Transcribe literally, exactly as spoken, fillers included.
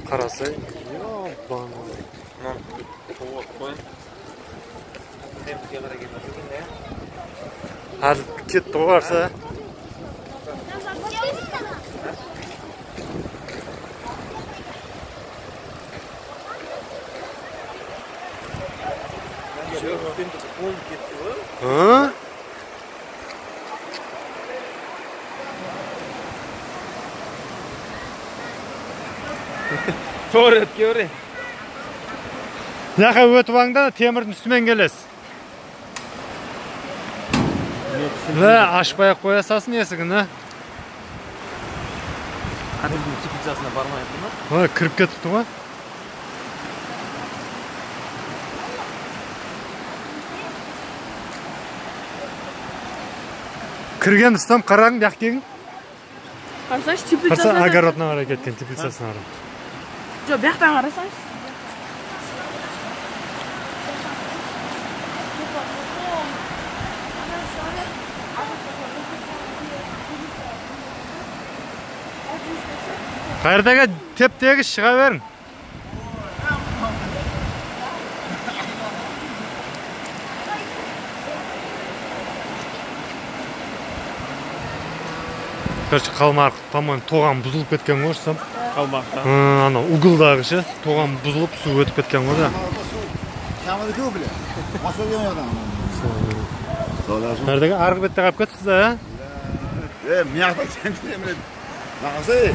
Карасай, ёбан. Мам, вот кой. Темпке карай келген да. Азыр кетти го барса. Hı? To'g'ri o'tga Яка өтүп аңда темирдин үстүнөн келесиз. Ла, ашпай коя салсын эсигин, а? Кадимки теплицасына бармайбы ма? Ой, кирип кетипти го. Кирген устам караң бияк келиң. Карасаңыз теплицасына. Караса огородна карай кеткен теплицасына карай. Жок, бияктан карасаңыз. Кайердеги теп-тегиз чыга бериң. Короче, калмак, по-моему, тоган бузулуп кеткен го, сам. Калмакта. Ана угылдагычы тоган бузулуп, суу өтүп кеткен го да. Камады көп биле. Машина жана. Кайердеги аркы бетте калып кетипсиз да, э? Э, мыякта сен билем. Нагасы